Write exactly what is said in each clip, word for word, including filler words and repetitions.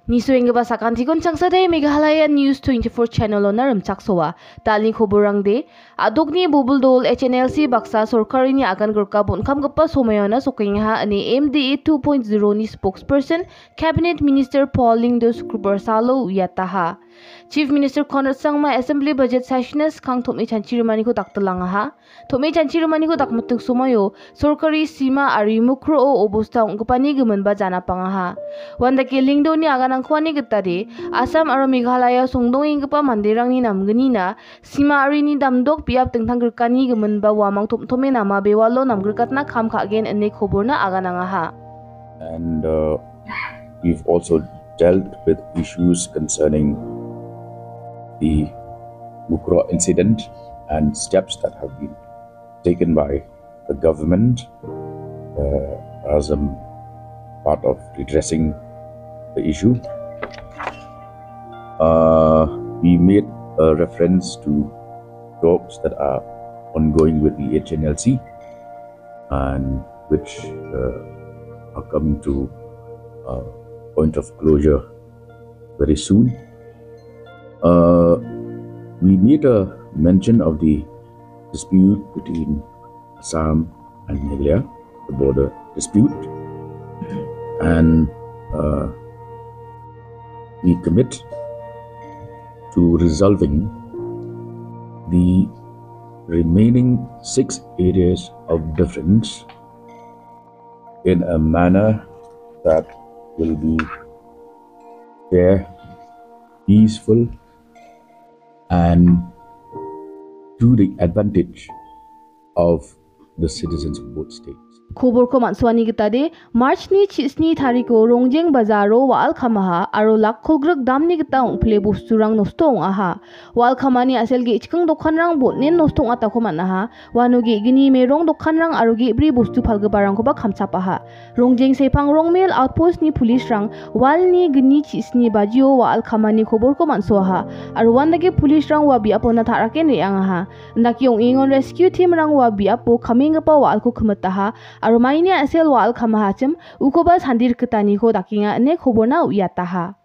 Nisoenggipa sakantikon changsadai Meghalaya News twenty-four channel-ona rimchaksoa. Dalni koborangde, a·dokni bobil dol H N L C baksa sorkarini agan grika bon·kamgipa somoiona sokengaha ine M D A two point zero-ni spokesperson Cabinet Minister Paul Lyngdoh Sukrobar salo uiataha. Chief Minister Conrad Sangma Assembly Budget Session-na skang tom·e chanchi rimaniko daktilangaha. Tom·e chanchi rimaniko dakmiting somoio sorkari sima ari mukroo obosta ong·gipani giminba janapangaha. Uandake Lyngdohni aganangko ani gitade, Assam aro Meghalaya songdongenggipa manderangni namgnina sima arini damdok biap dingtang grikani giminba uamang tom·tome nama bewalo namgrikatna kam ka·gen ine koborna aganangaha. And, uh, we've also dealt with issues concerning the Mukroh incident and steps that have been taken by the government, uh, as a part of redressing the issue. Uh, we made a reference to talks that are ongoing with the H N L C and which, uh, are coming to a point of closure very soon. Uh, we made a mention of the dispute between Assam and Meghalaya, the border dispute, and, uh, we commit to resolving the remaining six areas of difference in a manner that will be fair, peaceful, and to the advantage of the citizens of both states. Koborko man·suani gitade, March-ni chisni tariko Rongjeng bazaro wa·al kamaha aro lak kolgrik damni gita ong·pile bosturang nosto ong·aha. Wa·al kamani a·sel ge·chikang dokanrang bon·en nosto ong·atako man·aha. Uano ge·gni merong dokanrang aro ge·bri bostu palgiparangkoba kamchapaha. Rongjeng Sepang Rongmel Outpost-ni police-rang walni gni chisni bajio wa·al kamani koborko man·soaha. Aro uandake police-rang ua biapona ta·raken re·angaha. Indake ong·engon rescue team-rang ua biapo kamenggipa wa·alko kimitaha. Aro maini a·sel wa·al kamahachim ukoba sandirkitaniko dakenga ine koborna uiataha.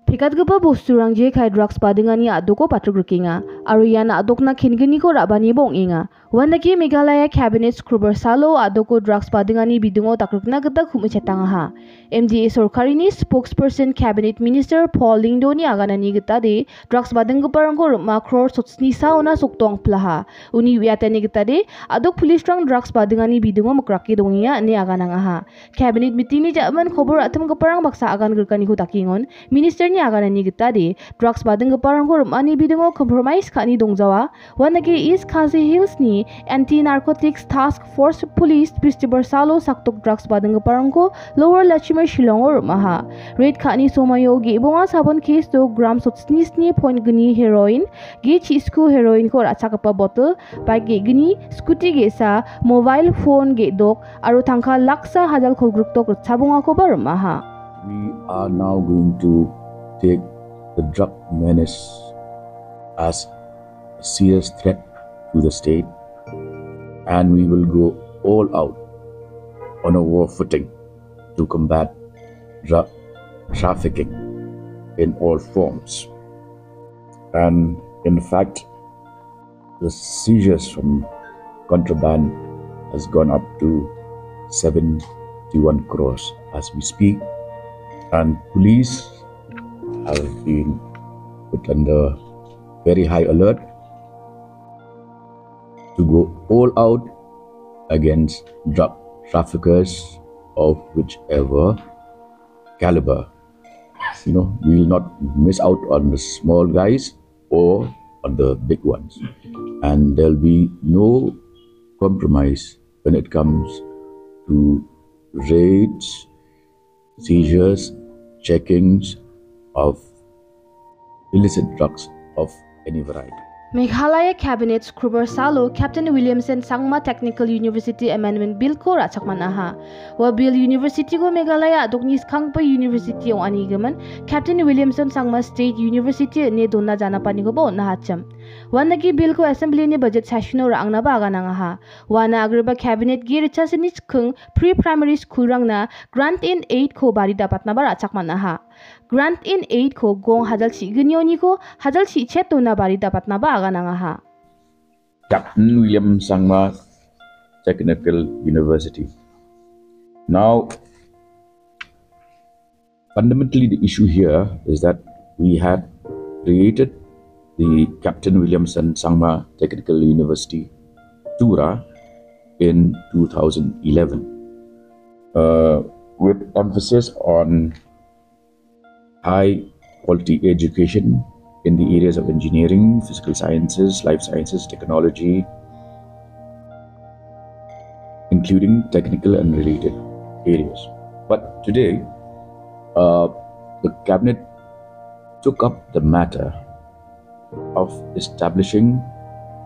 Pekatgipa bosturang jekai drugs badingani a·doko patrok rikenga, aro ian a·dokna kengniko ra·baniba ong·enga. Uandake Meghalaya Cabinet Sukrobar salo a·doko drugs badingani bidingo dakrikna gita kum·ichetangaha. M D A sorkarini spokesperson Cabinet Minister Paul Lyngdohni aganani gitade, drugs badinggiparangko rim·a crore sotsnisaona sokdongpilaha. Uni uiatani gitade, a·dok police-rang drugs badingani bidingo mikrake dongenga ine aganangaha. Cabinet meeting-ni ja·man kobor ra·timgiparang baksa agan grikaniko dakengon, Minister-ni aganani gitade, drugs badinggiparangko rim·ani bidingo compromise ka·ani dongjawa. Uandake East Khasi Hills-ni Anti-Narcotics Task Force Police Festival salo sakdok drugs badinggiparangko Lower Lachimai Shillongo rim·aha. Raid ka·ani somoio ge·bonga sabon case-o gram sotsnisni point gni heroin, ge chisku heroin-ko ra·chakgipa botel, bike ge·gni, scooty ge·sa, mobile phone ge·dok, aro tangka laksa hajal kolgrikdok ritchabongakoba rim·aha. We are now going to take the drug menace as a serious threat to the state, and we will go all out on a war footing to combat drug trafficking in all forms. And in fact, the seizures from contraband has gone up to seventy-one crores as we speak, and police have been put under very high alert to go all out against drug traffickers of whichever caliber. You know, we will not miss out on the small guys or on the big ones. And there'll be no compromise when it comes to raids, seizures, checkings of illicit drugs of any variety. Meghalaya Cabinet Sukrobar salo Captain Williamson Sangma Technical University Amendment Bill-ko ra·chakmanaha. Ua Bill University-ko Meghalaya a·dokni skanggipa university ong·anigimin Captain Williamson Sangma State University ine dona janapanikoba on·ahachim. Uandake bill-ko assembly-ni budget session-o ra·angnaba aganangaha. Uana agreba cabinet-gi ritchasini chikking pre-primary school-rangna grant in aid-ko bari dapatnaba ra·chakmanaha. Grant in aid-ko gong hajal chi·gnioniko hajal chi·chetona bari dapatnaba aganangaha. Captain William Sangma Technical University. Now, fundamentally, the issue here is that we had created the Captain Williamson Sangma Technical University, Tura, in two thousand eleven, uh, with emphasis on high quality education in the areas of engineering, physical sciences, life sciences, technology, including technical and related areas. But today, uh, the cabinet took up the matter of establishing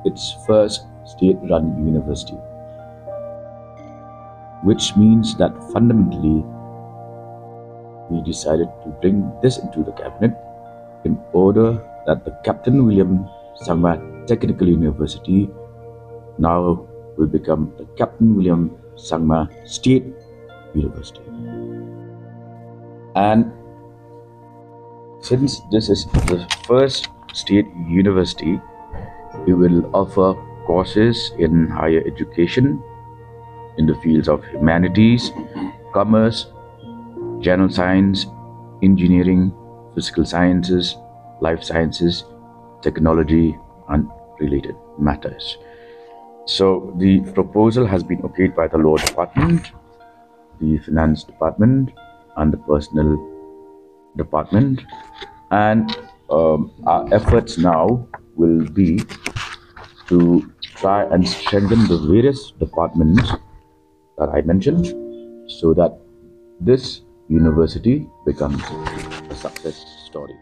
its first state-run university, which means that fundamentally we decided to bring this into the cabinet in order that the Captain William Sangma Technical University now will become the Captain William Sangma State University. And since this is the first state university, it will offer courses in higher education in the fields of humanities, commerce, general science, engineering, physical sciences, life sciences, technology, and related matters. So the proposal has been okayed by the Law Department, the Finance Department, and the Personnel Department. And, um, our efforts now will be to try and strengthen the various departments that I mentioned, so that this university becomes a success story.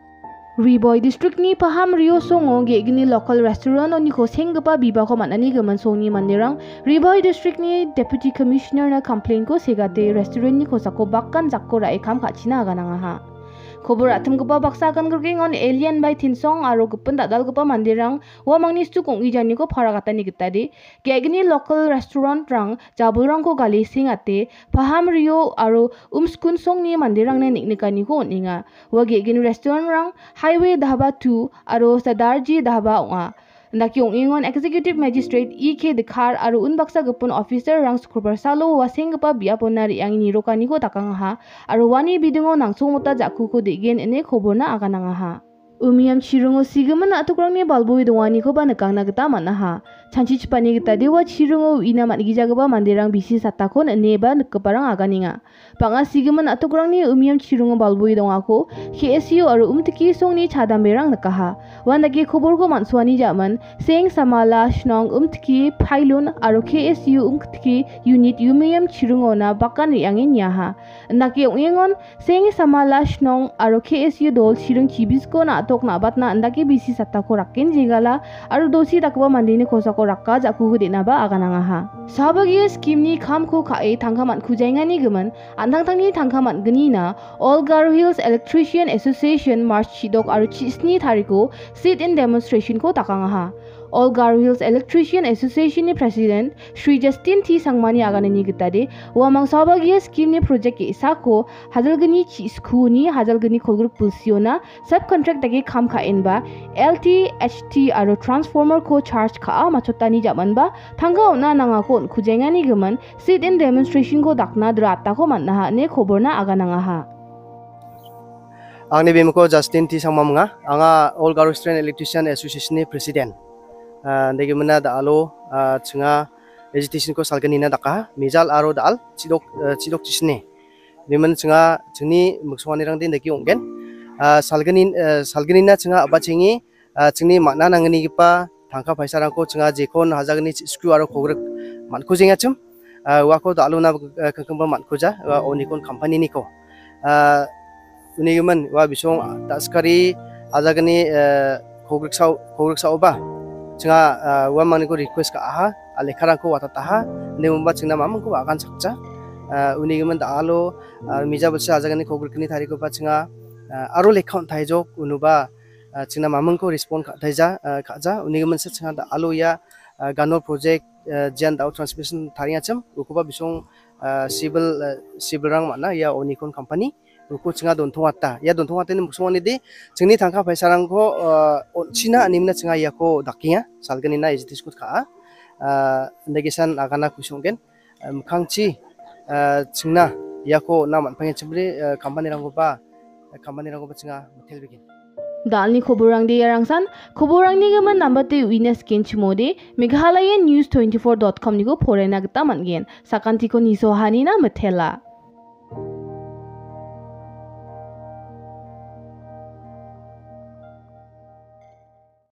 Ri Bhoi District-ni Paham Rio songo ge·gni local restaurant-oniko senggipa bibako man·ani gimin songni manderang Ri Bhoi District-ni Deputy Commissioner-na complain-ko segate restaurant-ni kosako bakan jakko ra·e kam ka·china aganangaha. Kobor ra·timgipa baksa agangrikeng on Alien bai Tinsong aro gipin dal·dalgipa manderang uamangni stuk ong·ejaniko paragatani gitade ge·gni local restaurant-rang jabolrangko gale sengate, Paham Rio aro Umskun songni manderangna neng·nikaniko on·enga. Ua ge·gni restaurant-rang Highway Dhaba two aro Sadarji Dhaba ong·a. Indake ong·engon Executive Magistrate E K Dkhar aro unbaksa gipin officer-rang Sukrobar salo ua senggipa biapona re·ange nirokaniko dakangaha aro uani bidingo nangsongmota ja·kuko de·gen ine koborna aganangaha. Umiam chiringo sigimin na·tokrangni balboe donganikoba nikangna gita man·aha. Chanchichipani gita dewa chiringo uina man·gijagipa manderang bisi satakon ineba nikgiparang aganenga. Bang·a sigimin na·tokrangni umiam chiringo balboe dongako K S U aro umtiki songni chadamberang nikaha. Uandake koborko man·suani ja·man, Seng Samala Shnong umtiki Pailun aro K S U umtiki unit umiam chiringona bakan re·ange niaha. Indake ong·engon Seng Samala Shnong aro K S U dol chiring chibisko na·tok na·batna indake bisi sattako rakken jegala aro dosi dakgipa mandeni kosako rakka ja·kuku de·naba aganangaha. Sabagia scheme-ni kamko ka·e tangka man·kujaengani gimin, an·tangtangni tangka man·gnina All Garo Hills Electrician Association March chidok aro chisni tariko sit-in demonstration-ko dakangaha. All Garo Hills Electrician Association-ni President Shri Justin T Sangmani aganani gitade, uamang sabagia scheme-ni project ge·sako hajalgni chi-, skuni hajalgni kolgrik bilsiona subcontract dake kam ka·enba L T H T aro transformer-ko charge ka·a matchotani ja·manba tangka on·a nangako on·kujaengani gimin sit-in demonstration-ko dakna dratako man·aha ine koborna aganangaha. Angni bimingko Justin T Sangma ong·a. Anga All Garo Student Electrician Association-ni President. Ah, degimina da·alo, ah, chinga agitation-ko salgnina dakaha. Mijal aro da·al chidok, eh, chidok chisni. Biman chinga chingni miksonganirangde dake ong·gen. Ah, salgni, eh, salgnina chinga a·bachengi, ah, chingni man·a nangnigipa tangka paisarangko chinga jekon hajagni chi-, sku aro kogrik man·kujengachim. Ah, uako da·alona, eh, kingkingba man·kuja, ua Onikon company-niko. Ah, unigimin ua bisong daskari hajagni, eh, kogriksao-, kogriksaoba chinga, ah, uamangniko request ka·aha, ah, lekkarangko watataha, ine umba chingna mamingko agan sakja. Ah, unigimin da·alo, ah, mija bilsa hajagni kogrikni tarikoba chinga, ah, aro lekka on·taijok, unuba ah, chingna mamingko respond ka·taija, ah, ka·ja. Uni giminsa chinga da·alo ia, ah, Ganol project, ah, jian da·o transmission tariachim, ukoba bisong, ah, civil, ah, civilrang man·a ia Onikon company. Uko chinga dontongata. Ia dontongatani miksonganide chingni tangka paisarangko, ah, on·china animina chinga iako dakenga, salgnina ejitisko ka·a. Ah, indagisan agana kusonggen. Ah, mikkangchi, ah, chingna iako on·na man·pangachimri, ah, company-rangkoba, company-rangkoba chinga mitelbegen. Dalni koborangde iarangsan, koborangni gimin nambate uina skenchimode, Meghalaya News twenty-four dot com-niko porena gita man·gen. Sakantiko nisohanina mitela.